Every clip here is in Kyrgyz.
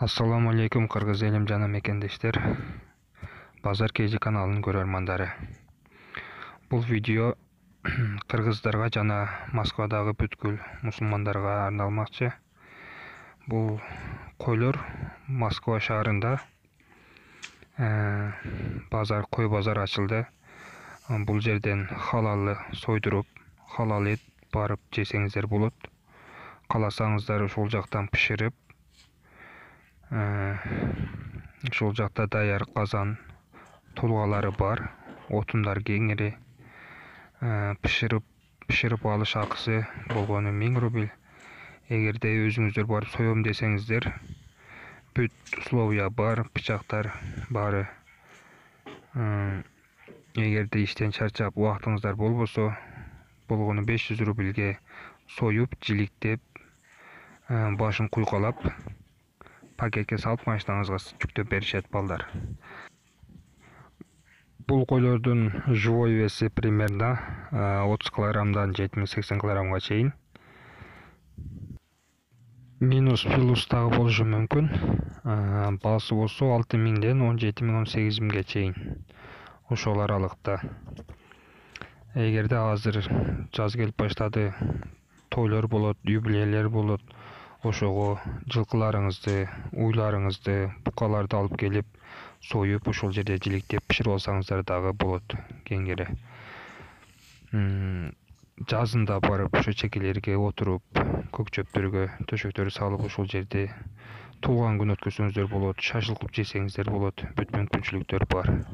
Ассаламу алейкум кыргыз элим жана мекендештер, Базар KG каналынын көрөрмандары. Бул видео кыргыздарга жана Москвадагы бүткүл мусулмандарга арналмакчы. Бул койлор Москва шаарында кой базар ачылды. Бул жерден халалы сойдуруп, халал эт барып жесеңиздер болот. Кааласаңыздар ошол жактан пиширип, ошол жакта даяр казан тулгалары бар, отундар кеңири. Пиширип алыш акысы болгону 1000 рубль. Эгерде өзүңүздөр барып соем десеңиздер, бүт условия бар, бычактар баары. Эгерде иштен чарчап убактыңыздар болбосо, болгону 500 рубльге союп, жиликтеп, башын куйкалап, пакетке салып машинаңызга жүктөп беришет балдар. Бул койлордун живой веси примерно 30 килограммдан 70-80 килограммга чейин. Минус плюс дагы болушу мүмкүн. Баасы болсо 6000ден 17000-18000ге чейин. Ошол аралыкта. Эгерде азыр жаз келип баштады, тойлор болот, юбилейлер болот, ошого жылкыларыңызды, уйларыңызды, букаларды алып келип, союп, ошол жерде жиликтеп пиширип алсаңыздар дагы болот кеңири. Жазында барып ошо чекелерге отуруп, көк чөптөргө төшөктөрдү салып, ошол жерде туулган күн өткөзсөңүздөр болот, шашылык кылып жесеңиздер болот, бүт мүмкүнчүлүктөр бар.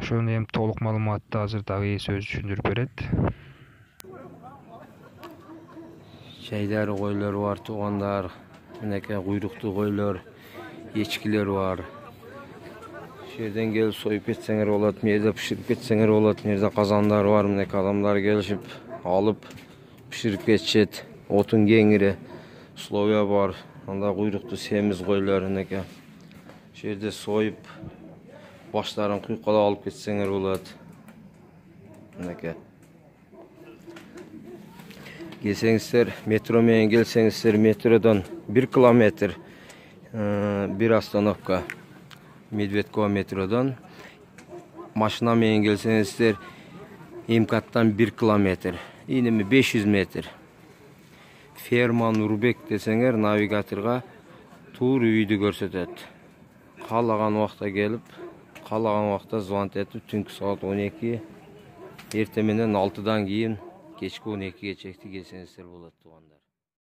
Ошону эми толук маалыматты азыр дагы ээси өзү түшүндүрүп берет. Чайдары койлор бар, туугандар, мынакей куйруктуу койлор, эчкилер бар. Ошол жерден келип союп кетсеңер болот, мына пиширип кетсеңер болот. Мына казандар бар, мынакей адамдар келишип алып пиширип кетишет. Отун кеңири, условия бар. Анда куйруктуу семиз койлор мынакей. Ошол жерде союп, баштарын куйкалап алып кетсеңер болот. Мынакей. Келсеңиздер, метро менен келсеңиздер, метродон 1 километр, 1 остановка. Медведково метродон. Машина менен келсеңиздер, МКАДтан 1 километр, инеми 500 метр. Ферма Нурбек десеңер, навигаторга туура үйдү көрсөтөт. Каалаган убакта келип, каалаган убакта звонок этип, түнкү саат 12, эртең менен 6дан кийин кечки 12ге чейин келсеңиздер болот, туугандар.